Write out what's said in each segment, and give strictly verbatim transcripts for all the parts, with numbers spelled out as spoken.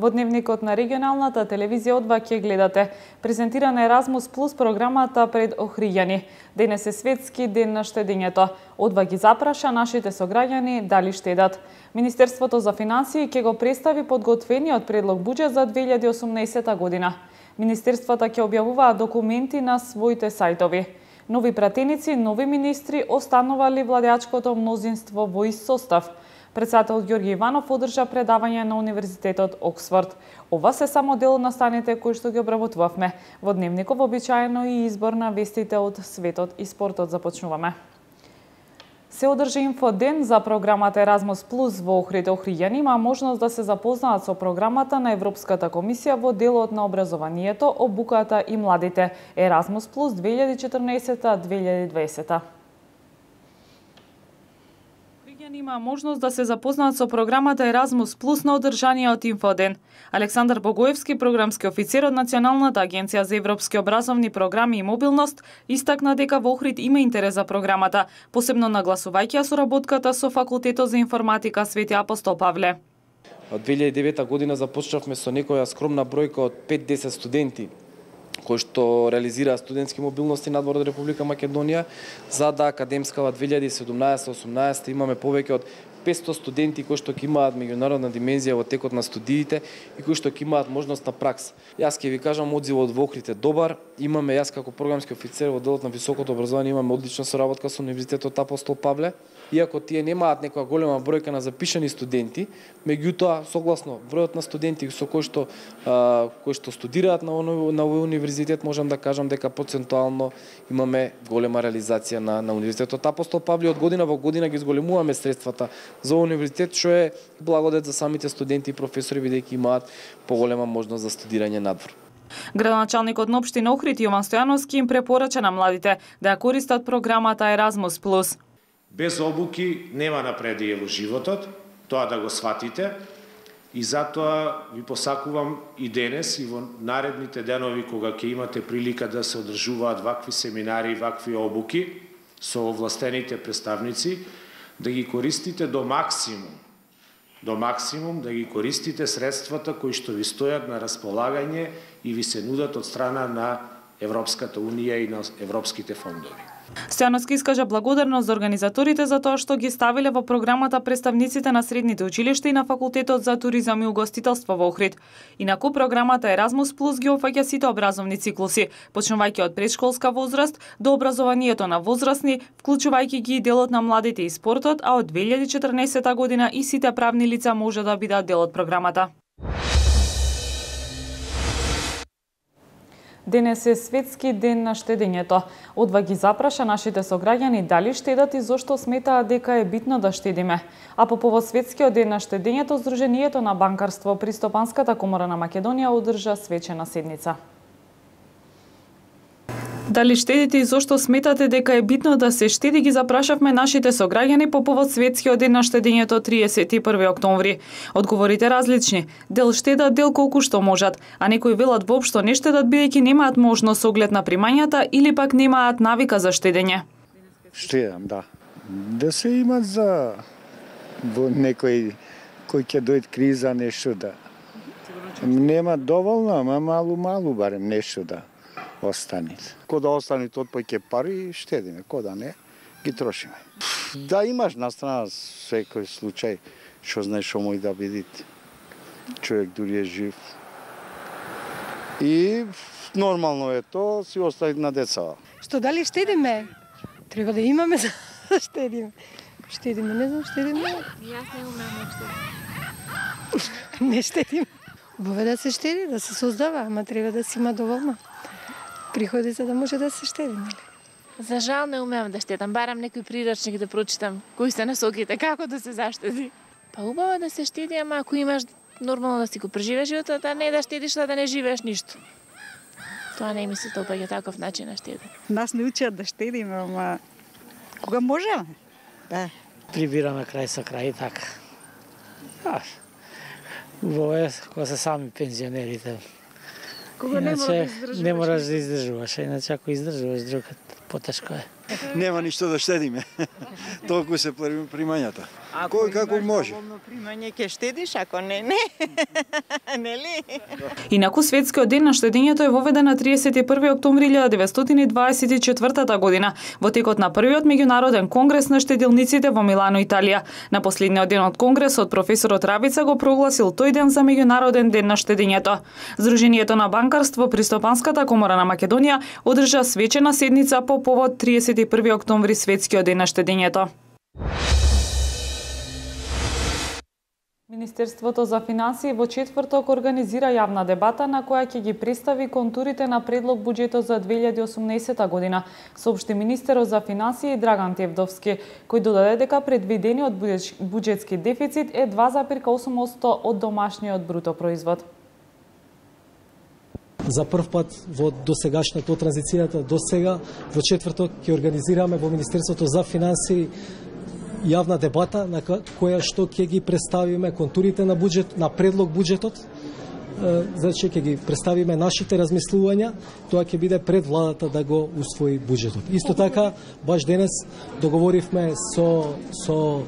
Во дневникот на регионалната телевизија од два ќе гледате. Презентирана Еразмус Плюс програмата пред Охриѓани. Денес е светски ден на штедењето. Од два ги запраша нашите сограѓани дали штедат. Министерството за финансии ќе го представи подготвениот предлог буџет за две илјади и осумнаесета година. Министерствата ќе објавуваат документи на своите сајтови. Нови пратеници, нови министри останували владеачкото мнозинство во ист состав. Председател Ѓорѓе Иванов одржа предавање на Универзитетот Оксфорд. Ова се само дел од настаните кои што ги обработувавме. Во дневников обичаено и избор на вестите од светот и спортот започнуваме. Се одржа инфоден за програмата Еразмус Плюс во Охрид. Охриѓани има можност да се запознаат со програмата на Европската комисија во делот на образованието, обуката и младите. Еразмус Плюс две илјади и четрнаесета - две илјади и дваесета. Има можност да се запознаат со програмата Еразмус Плюс на одржаниот инфоден. Александар Богоевски, програмски офицер од Националната агенција за европски образовни програми и мобилност, истакна дека во Охрид има интерес за програмата, посебно нагласувајќи ја соработката со Факултетот за информатика Свети Апостол Павле. Од две илјади и девета година започнавме со некоја скромна бројка од пет до десет студенти кои што реализираат студентски мобилности надвор од Република Македонија, за да академскава две илјади и седумнаесета - осумнаесета имаме повеќе од петстотини студенти кои што ќе имаат меѓународна димензија во текот на студиите и кои што ќе имаат можност на пракса. Јас ќе ви кажам, одзивот во Охрид е добар. Имаме, јас како програмски офицер во делот на високото образование, имаме одлична соработка со Универзитетот Апостол Павле. Иако тие немаат некоја голема бројка на запишани студенти, меѓутоа согласно бројот на студенти со кои што а, кои што студираат на на овој универзитет, можам да кажам дека процентуално имаме голема реализација на на Универзитетот Апостол Павле. Од година во година ги зголемуваме средствата за универзитет, што е благодет за самите студенти и професори, бидејќи имаат поголема можност за студирање надвор. Градоначалникот на општина Охрид Јован Стојановски им препорача на младите да ја користат програмата Еразмус Плюс. Без обуки нема напредие во животот, тоа да го сватите, и затоа ви посакувам и денес и во наредните денови кога ќе имате прилика да се одржуваат вакви семинари и вакви обуки со овластените представници, да ги користите до максимум, до максимум да ги користите средствата кои што ви стојат на располагање и ви се нудат од страна на Европската Унија и на европските фондови. Стојановски искажа благодарност за организаторите за тоа што ги ставиле во програмата представниците на средните училишта и на Факултетот за туризам и угостителство во Охрид. Инаку програмата Еразмус Плюс ги опфаќа сите образовни циклуси, почнувајќи од предшколска возраст до образованието на возрастни, вклучувајќи ги и делот на младите и спортот, а од две илјади и четрнаесета година и сите правни лица може да бидат дел од програмата. Денес е светски ден на штедењето. Од два ги запраша нашите сограѓани дали штедат и зошто сметаат дека е битно да штедиме. А по повод светскиот ден на штедењето, Сдруженијето на банкарство при Стопанската комора на Македонија одржа свечена седница. Дали штедите и зошто сметате дека е битно да се штеди, ги запрашавме нашите сограѓани по повод светскиот ден на штедењето триесет и први октомври. Одговорите различни. Дел штедат, дел колку што можат, а некои велат воопшто не штедат бидејќи немаат можност со оглед на примањата или пак немаат навика за штедење. Штедам, да. Да се имат за во некој кој ќе дојде криза, нешто да. Нема доволно, ама малу-малу барем нешто да остане. Ко да остане од повеќе пари, штедиме, ко да не, ги трошиме. Да имаш на страна секој случај, што знаеш што мој да биде. Човек дури е жив. И нормално е тоа, си остави на деца. Што дали штедиме? Треба да имаме за да штедиме. Штедиме, не знам, штедиме. Јас не умеам да штедим. Не штедиме. Убаво да се штеди, да се создава, ама треба да си има доволно приходи за да може да се штеди, нели? За жал не умеам да штедам, барам некој прирачник да прочитам, кои се насоките, како да се заштеди. Па убаво да се штеди, ама ако имаш нормално да си го преживееш животот, а не да штедиш, да не живееш ништо. Тоа не ми се допаѓа таков начин на штеди. Нас не учат да штедиме, ама кога можеме, да. Прибираме крај со крај, така. Убаво е, кога се сами пензионерите. Кога не можеш да издржуваш. Не можеш да издржуваш, иначе ако издржуваш, другот потешко е. Нема ништо да штедиме. Толку се примањата. Кој како може. Ако примање ќе штедиш, ако не, не. Нели? Инаку светскиот ден на штедењето е воведен на триесет и први октомври илјада деветстотини и дваесет и четвртата година во текот на првиот меѓународен конгрес на штедилниците во Милано, Италија. На последниот ден од конгресот професорот Рабица го прогласил тој ден за меѓународен ден на штедењето. Здруженијето на банкарство при Стопанската комора на Македонија одржа свечена седница по повод триесет и први октомври светскиот ден на штедењето. Министерството за финансии во четврток организира јавна дебата на која ќе ги представи контурите на предлог буџетот за две илјади и осумнаесета година, соопшти министерот за финансии Драган Тевдовски, кој додаде дека предвидениот буџетски дефицит е два зарез и осум одсто од домашниот бруто производ. За прв пат во досегашната транзицијата до сега во четврток ќе организираме во Министерството за финансии јавна дебата на која што ќе ги представиме контурите на буџет, на предлог буџетот. Значи ќе ги представиме нашите размислувања, тоа ќе биде пред владата да го усвои буџетот. Исто така, баш денес договоривме со со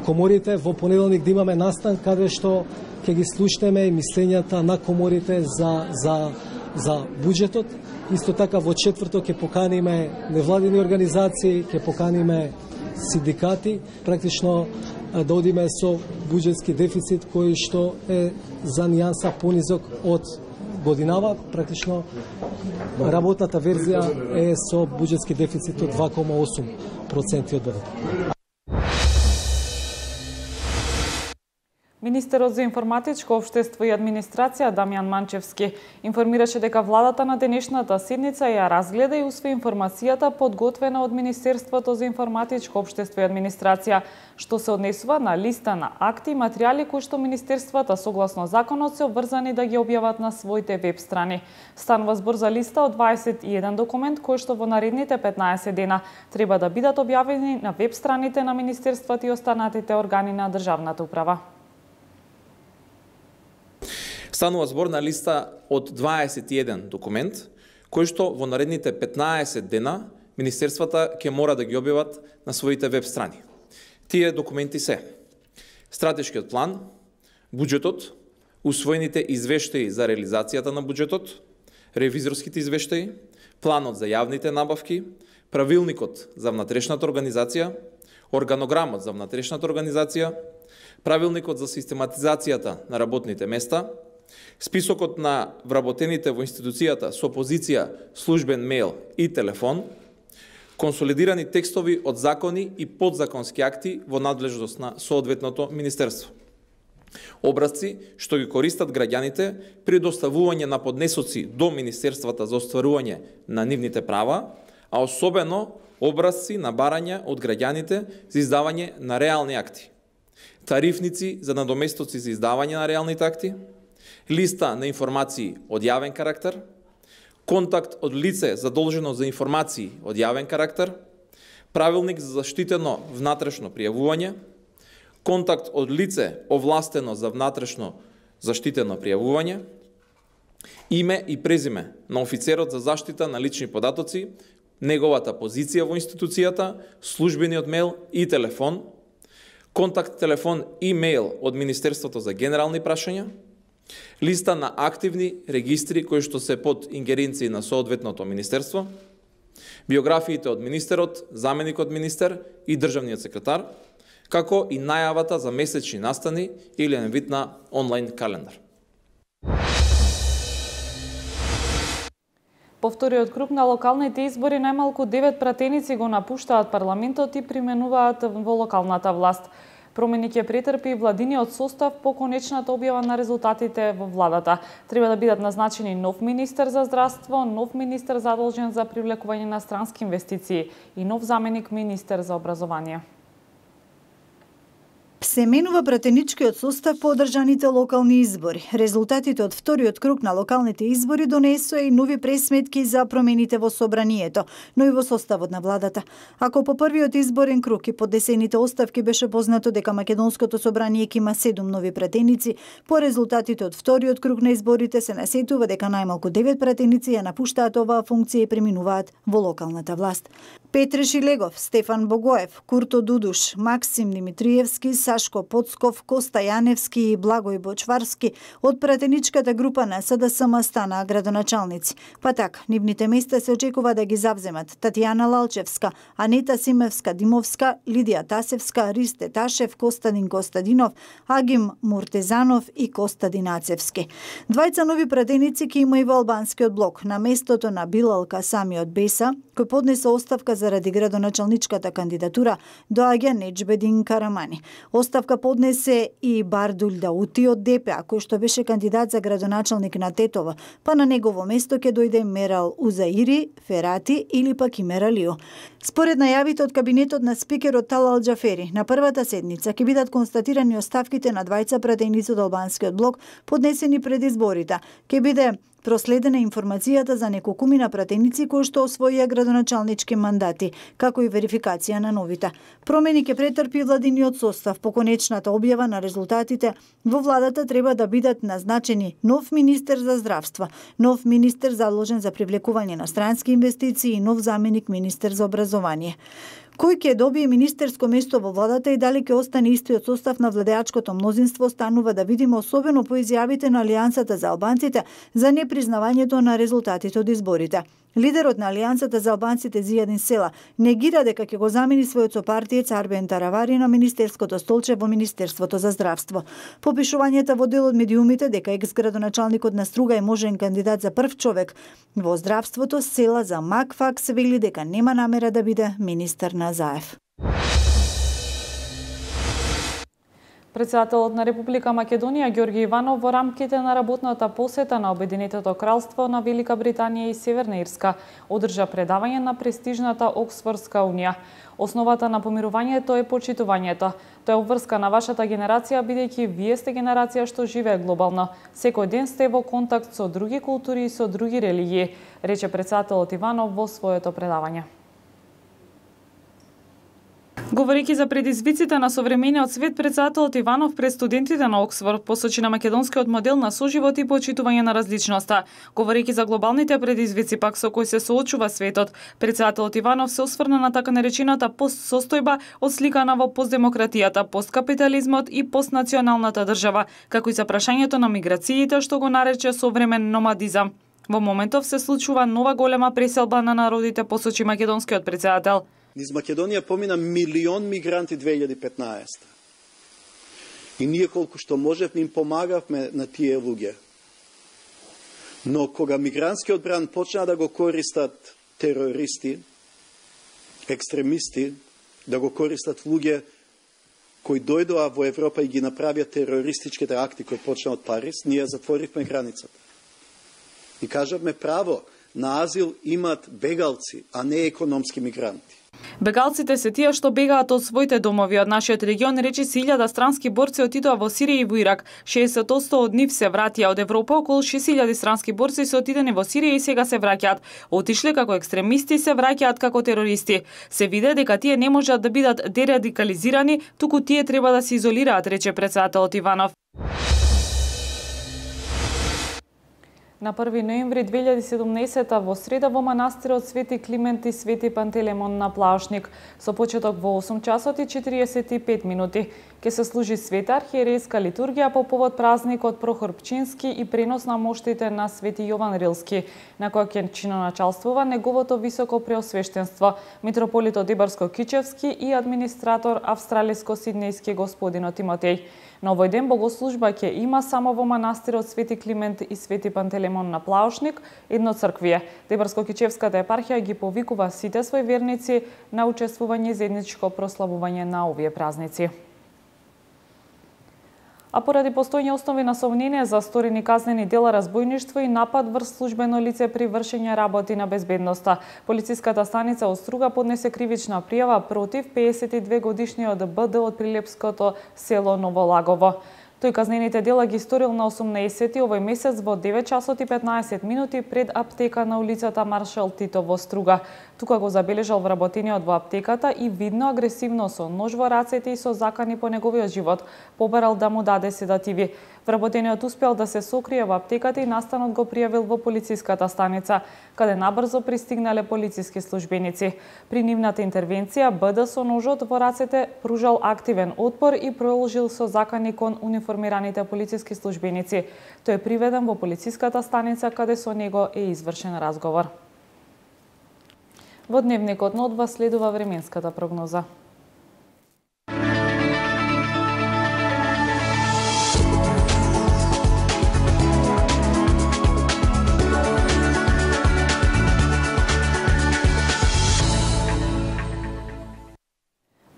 коморите во понеделник да имаме настан каде што ќе ги слушнеме мислењата на коморите за за за буџетот. Исто така во четврток ќе поканиме невладини организации, ќе поканиме синдикати, практично да одиме со буџетски дефицит кој што е за нијанса понизок од годинава. Практично работната верзија е со буџетски дефицит од два кома осум проценти од БВП. Министерот за информатичко општество и администрација Дамјан Манчевски информираше дека владата на денешната седница ја разгледа и усвои информацијата подготвена од Министерството за информатичко општество и администрација, што се однесува на листа на акти и материјали кои што министерствата согласно законот се обврзани да ги објават на своите веб страни. Станува збор за листа од дваесет и еден документ кои што во наредните петнаесет дена треба да бидат објавени на веб страните на министерствата и останатите органи на државната управа. Станува збор на листа од дваесет и еден документ, кои што во наредните петнаесет дена министерствата ќе мора да ги објават на своите веб страни. Тие документи се стратешкиот план, буџетот, усвоените извештаи за реализацијата на буџетот, ревизорските извештаи, планот за јавните набавки, правилникот за внатрешната организација, органограмот за внатрешната организација, правилникот за систематизацијата на работните места, списокот на вработените во институцијата со позиција службен мејл и телефон, консолидирани текстови од закони и подзаконски акти во надлежност на соодветното министерство. Образци што ги користат граѓаните при доставување на поднесоци до министерствата за остварување на нивните права, а особено образци на барања од граѓаните за издавање на реални акти, тарифници за надоместоци за издавање на реалните акти, листа на информации од јавен карактер, контакт од лице задолжено за информации од јавен карактер, правилник за заштитено внатрешно пријавување, контакт од лице овластено за внатрешно заштитено пријавување, име и презиме на офицерот за заштита на лични податоци, неговата позиција во институцијата, службениот мејл и телефон, контакт телефон и мејл од Министерството за генерални прашања, листа на активни регистри кои што се под ингеренција на соодветното министерство, биографиите од министерот, заменикот министер и државниот секретар, како и најавата за месечни настани или еден вид на онлайн календар. По вториот круг на локалните избори најмалку девет пратеници го напуштаат парламентот и применуваат во локалната власт. Промени ќе претрпи владиниот состав по конечната објава на резултатите во владата. Треба да бидат назначени нов министер за здравство, нов министер задолжен за привлекување на странски инвестиции и нов заменик министер за образование. Се менува пратеничкиот состав по одржаните локални избори. Резултатите од вториот круг на локалните избори донесоа и нови пресметки за промените во собранието, но и во составот на владата. Ако по првиот изборен круг и поднесените оставки беше познато дека македонското собрание ќе има седум нови пратеници, по резултатите од вториот круг на изборите се насетува дека најмалку девет пратеници ја напуштаат оваа функција и преминуваат во локалната власт. Петре Шилегов, Стефан Богоев, Курто Дудуш, Максим Димитриевски, Сашко Поцков, Коста Јаневски и Благој Бочварски од пратеничката група на СДСМ стана градоначалници. Па така, нивните места се очекува да ги завземат Татјана Лалчевска, Анета Симевска Димовска, Лидија Тасевска, Ристе Ташев, Костадин Костадинов, Агим Муртезанов и Костадин Ацевски. Двајца нови пратеници ќе има и во албанскиот блок на местото на Билал Касами од Беса, кој поднесе оставка заради градоначалничката кандидатура, доаѓа Неџбедин Карамани. Оставка поднесе и Бардуль Даути од ДПА, кој што беше кандидат за градоначалник на Тетово, па на негово место ќе дојде Мерал Узаири, Ферати или пак и Мералио. Според најавите од кабинетот на спикерот Талал Џафери, на првата седница ќе бидат констатирани оставките на двајца пратеници од албанскиот блок поднесени пред изборите. Ќе биде проследена информацијата за неколкумина пратеници кои што освоија градоначалнички мандати, како и верификација на новите. Промени ќе претрпи владиниот состав. По конечната објава на резултатите, во владата треба да бидат назначени нов министер за здравство, нов министер заложен за привлекување на странски инвестиции и нов заменик министер за образование. Кој ќе добие министерско место во владата и дали ќе остане истиот состав на владеачкото мнозинство останува да видиме, особено по изјавите на Алијансата за албанците за непризнавањето на резултатите од изборите. Лидерот на Алијансата за албанците Зијадин Села негира дека ќе го замени својот сопартиец Арбен Таравари на министерското столче во Министерството за здравство. По пишувањата во дел од медиумите дека екс-градоначалникот на Струга е можен кандидат за прв човек во здравството, Села за Макфакс вели дека нема намера да биде министер на Заев. Председателот на Република Македонија Ѓорги Иванов во рамките на работната посета на Обединетото кралство на Велика Британија и Северна Ирска одржа предавање на престижната Оксфордска унија. Основата на помирувањето е почитувањето. Тоа е обврска на вашата генерација, бидејќи вие сте генерација што живее глобално. Секој ден сте во контакт со други култури и со други религии, рече председателот Иванов во своето предавање. Говорејќи за предизвиците на современиот свет, председателот Иванов пред студентите на Оксфорд посочи на македонскиот модел на соживот и почитување на различноста. Говорејќи за глобалните предизвици пак со кои се соочува светот, председателот Иванов се осврна на така наречената постсостојба отсликана во постдемократијата, посткапитализмот и постнационалната држава, како и за прашањето на миграциите што го нарече современ номадизам. Во моментов се случува нова голема преселба на народите, посочи македонскиот председател. Низ Македонија помина милион мигранти две илјади и петнаесета. И ние колку што можевме им помагавме на тие луѓе. Но кога мигрантскиот бран почна да го користат терористи, екстремисти, да го користат луѓе кои дојдоа во Европа и ги направија терористичките акти кои почна од Париз, ние затворивме границата. И кажавме право на азил имат бегалци, а не економски мигранти. Бегалците се тие што бегаат од своите домови. Од нашиот регион речиси илјада странски борци отидоа во Сирија и во Ирак. шеесет одсто од нив се вратија од Европа, околу шест илјади странски борци се отидени во Сирија и сега се враќаат. Отишле како екстремисти, се враќаат како терористи. Се виде дека тие не можат да бидат дерадикализирани, туку тие треба да се изолираат, рече председателот Иванов. На први ноември две илјади и седумнаесета во среда во манастирот Свети Климент и Свети Пантелемон на Плаошник со почеток во осум часот и четиридесет и пет минути ќе се служи света архиерејска литургија по повод празникот Прохор Пчински и пренос на моштите на Свети Јован Рилски, на која ќе чиноначалствува неговото високо преосвештенство митрополитот Ибарско-Кичевски и администратор австралиско-сиднејски господин Тимотеј. На овој ден богослужба ќе има само во манастирот Свети Климент и Свети Пантелемон на Плаошник, едно црквие. Ибарско-Кичевската епархија ги повикува сите своји верници на учествување заедничко прославување на овие празници. А поради постојни основи на сомнение за сторени казнени дела разбојништво и напад врз службено лице при вршење работи на безбедноста, полициската станица од Струга поднесе кривична пријава против пеесет и две годишниот БД од прилепското село Новолагово. Тој казнените дела ги сторил на осумнаесети овој месец во девет часот и петнаесет минути пред аптека на улицата Маршал Тито во Струга. Тука го забележал вработениот во аптеката и видно агресивно со нож во рацете и со закани по неговиот живот побарал да му даде седативи. Вработениот успел да се сокрие во аптеката и настанот го пријавил во полициската станица, каде набрзо пристигнале полициски службеници. При нивната интервенција Б Д со ножот во рацете пружал активен отпор и продолжил со закани кон униформираните полициски службеници. Тој е приведен во полициската станица каде со него е извршен разговор. Во дневникот на Одва следува временската прогноза.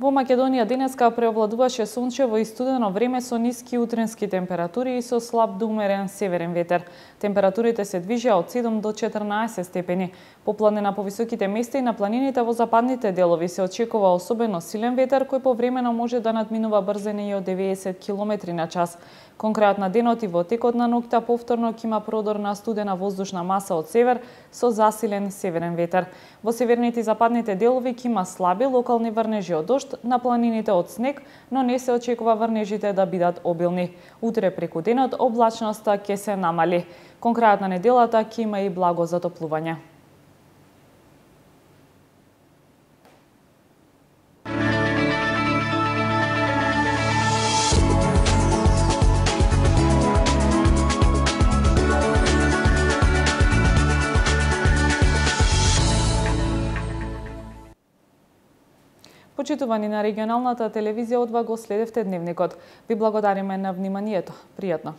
Во Македонија денеска преовладуваше сончево и студено време со ниски утрински температури и со слаб до умерен северен ветер. Температурите се движеа од седум до четрнаесет степени. По планина по високите места и на планините во западните делови се очекува особено силен ветер кој повремено може да надминува брзини и од деветдесет километри на час. Кон крајот на денот и во текот на ноќта повторно ќе има продор на студена воздушна маса од север со засилен северен ветер. Во северните и западните делови ќе има слаби локални врнежи од дожд, на планините од снег, но не се очекува врнежите да бидат обилни. Утре преку денот облачноста ќе се намали. Кон крајот на неделата ќе има и благо затоплување. Почитувани на регионалната телевизија Одва го следевте дневникот. Ви благодариме на вниманието. Пријатно.